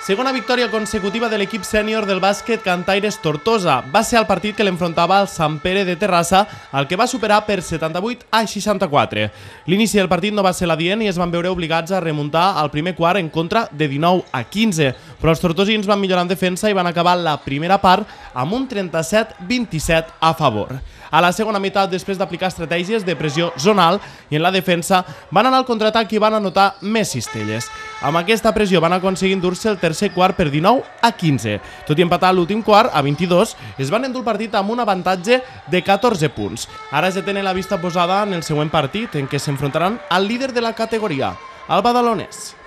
Segona victòria consecutiva de l'equip sènior del bàsquet Cantaires Tortosa. Va ser el partit que l'enfrontava al Sant Pere de Terrassa, el que va superar per 78-64. L'inici del partit no va ser l'adient i es van veure obligats a remuntar al primer quart en contra de 19-15, però els tortosins van millorar en defensa i van acabar la primera part amb un 37-27 a favor. A la segona meitat, després d'aplicar estratègies de pressió zonal i en la defensa, van anar al contraatac i van anotar més cistelles. Amb aquesta pressió van aconseguir endur-se el tercer quart per 19-15. Tot i empatar l'últim quart, a 22, es van endur el partit amb un avantatge de 14 punts. Ara ja tenen la vista posada en el següent partit, en què s'enfrontaran al líder de la categoria, el Badalonès.